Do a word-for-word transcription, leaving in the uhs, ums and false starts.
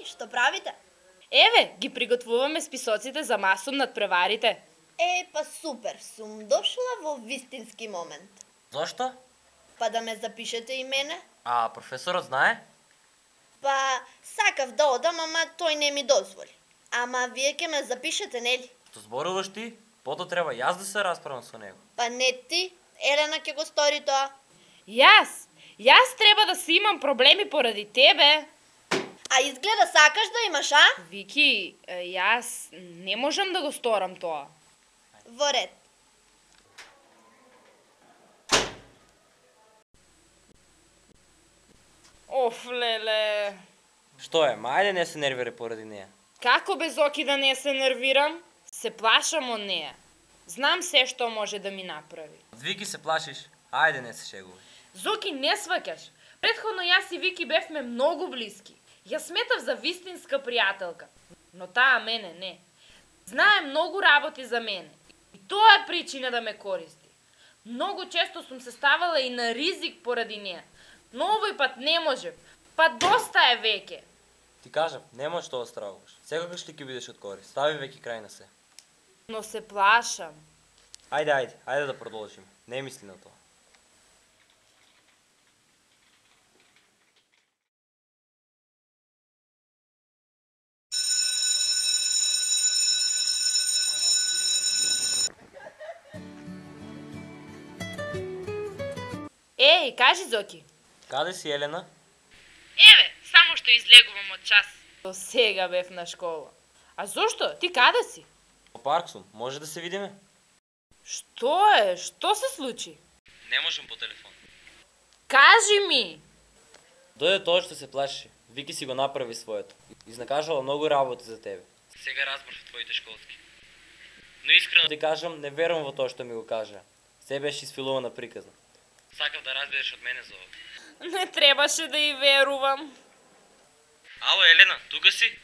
што правите? Еве, ги приготвуваме списоците за масум над преварите. Е, па супер, сум дошла во вистински момент. Зошто? Па да ме запишете и мене? А професорот знае? Па сакав да одам, ама тој не ми дозволи. Ама вие ќе ме запишете, нели? Што зборуваш ти? Пото треба јас да се расправам со него. Па не ти, Елена ќе го стори тоа. Јас? Јас треба да си имам проблеми поради тебе. А изгледа сакаш да имаш, а? Вики, е, јас не можам да го сторам тоа. Во ред. Оф, леле. Што е, мајде не се нервира поради неја. Како без оки да не се нервирам? Се плашам од неја. Знам се што може да ми направи. Од Вики се плашиш? Ајде не се шегувај. Зоки, не сваќаш. Предходно јас и Вики бевме многу блиски. Ја сметав за вистинска пријателка, но таа мене не. Знае многу работи за мене. И тоа е причина да ме користи. Многу често сум се ставала и на ризик поради неја. Но овој пат не можев. Па доста е веќе. Ти кажав, нема што да стравуваш. Секогаш ли ќе бидеш од корист? Стави веќе крај на се. Но се плашам. Ајде, ајде, ајде да продолжим. Не мисли на тоа. Еј, кажи, Зоки. Каде си, Елена? Еве, само што излегувам од час. До сега бев на школа. А зошто? Ти каде си? Во парк сум, може да се видиме? Што е? Што се случи? Не можам по телефон. Кажи ми! Дојде тоа што се плаши. Вики си го направи своето. Изнакажала многу работи за тебе. Сега разбрав твоите школски. Но искрено ти кажам, не верувам во тоа што ми го кажа. Се беше isфилувана приказна. Сакав да разбереш од мене за ова. Не требаше да и верувам. Ало, Елена, тука си?